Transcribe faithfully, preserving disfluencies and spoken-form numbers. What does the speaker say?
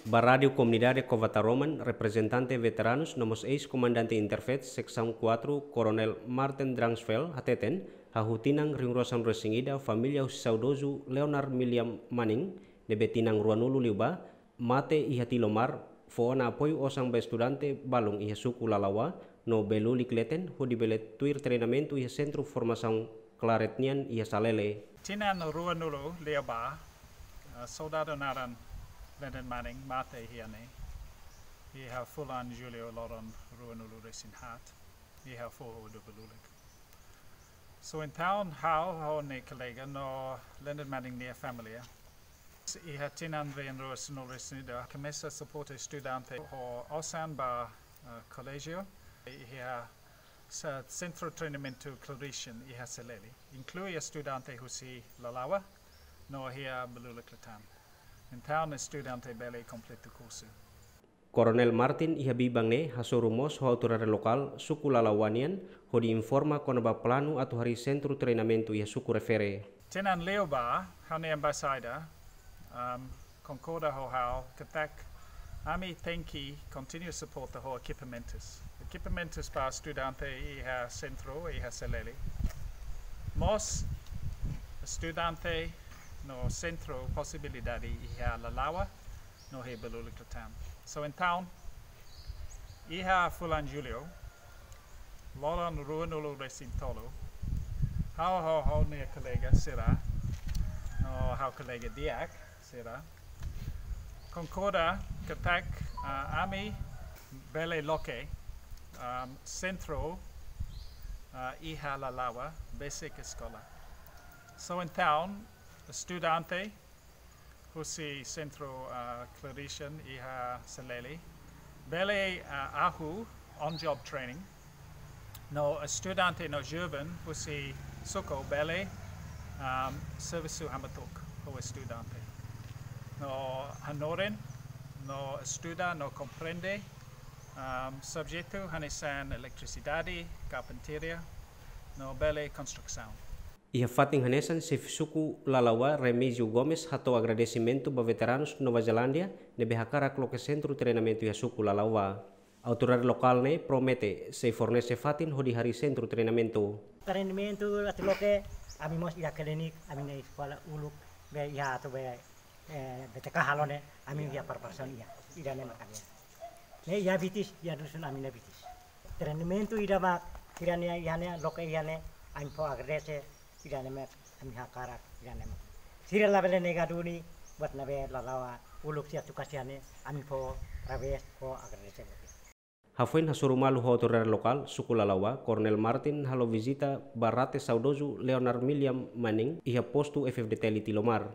Ba Rádiu Komunidade Cova Taroman, reprezentante veteranus no mós eis-komandante Interfet Seksaun quatro, Koronel Martin Drangsfeld, hateten, hahú tinan rihun rua sanulu-resin-ida família husi saudozu Leonard Milliam Manning, ne'ebé tinan ruanulu liubá, mate iha Tilomar, fó ona apoiu osan ba estudante balun iha suku Lalawa, no Belulik Leten, hodi bele tuir treinamentu iha Sentru Formasaun Claret nian iha Salele. Tinan ruanulu liubá, eh, soldadu naran Leonard Manning mate iha ne'e, iha fulan Jullu loron ruanulu-resin-haat, iha foho udu Belulik. So entaun, ha'u, ha'u-nia kolega no Leonard Manning nia família, iha tinan rihun rua sanulu-resin-ida, komesa suporta estudante ho osan ba, eh, koléjiu, iha se-, Sentru Treinamentu Claret nian iha Salele, inklui estudante husi Lalawa, no iha Belulik Leten. Entaun, estudante bele kompleta kursu. Koronel Martin iha biban ne'e hasoru mós ho autoridade lokál suku Lalawa nian hodi informa kona-ba planu atu harii sentru treinamentu iha suku refere. Tinan liubá, ha'u-nia embaixada, um, konkorda ho ha'u katak ami tenke kontinua suporta ho ekipamentus. Ekipamentus ba estudante iha sentru, iha Salele. Mós estudante no sentru posibilidade iha Lalawa, no iha Belulik Leten. So entaun, iha fulan Jullu, loron ruanulu-resin-tolu, ha'u ho ha'u-nia kolega sira, no ha'u kolega di'ak sira, konkorda katak, ah, ami bele loke, um, sentru, ah, iha Lalawa, besik eskola. So entaun, estudante husi Sentru, ah, Claret nian iha Salele bele, ah, hahú on-job training. No estudante no joven husi suku bele, um, servisu hamutuk ho estudante. No hanorin, no estuda, no komprende, um, subjetu hanesan eletrisidade, karpintaria, no bele konstrusaun. Iha fatin hanesan, xefe suku Lalawa, Remígio Gomes, hato'o agradesimentu ba veteranus Nova Zelándia ne'ebé hakarak loke sentru treinamentu iha suku Lalawa. Autoridade lokál ne'e promete sei fornese fatin hodi harii sentru treinamentu. Treinamentu atu loke, ami mós iha klinik, ami-nia eskola uluk, be iha atu be, eh, B T K halo ne'e, ami iha preparasaun iha, ida-ne'e mak ami. Ne'e iha Bitis, iha dusun ami-nia Bitis. Treinamentu ida mak sira-nia iha ne'e, loke iha ne'e, ami fó agradese, ida-ne'e mak ami hakarak, ida-ne'e mak. Sira labele nega duni, buat ne'ebé Lalawa uluk sira tukas iha ne'e, ami fó parabéns, fó agradese buat. Hafoin hasoru malu ho autoridade lokál suku Lalawa, Koronel Martin halo vizita ba rate saudozu Leonard Milliam Manning iha postu F F D T L Tilomar.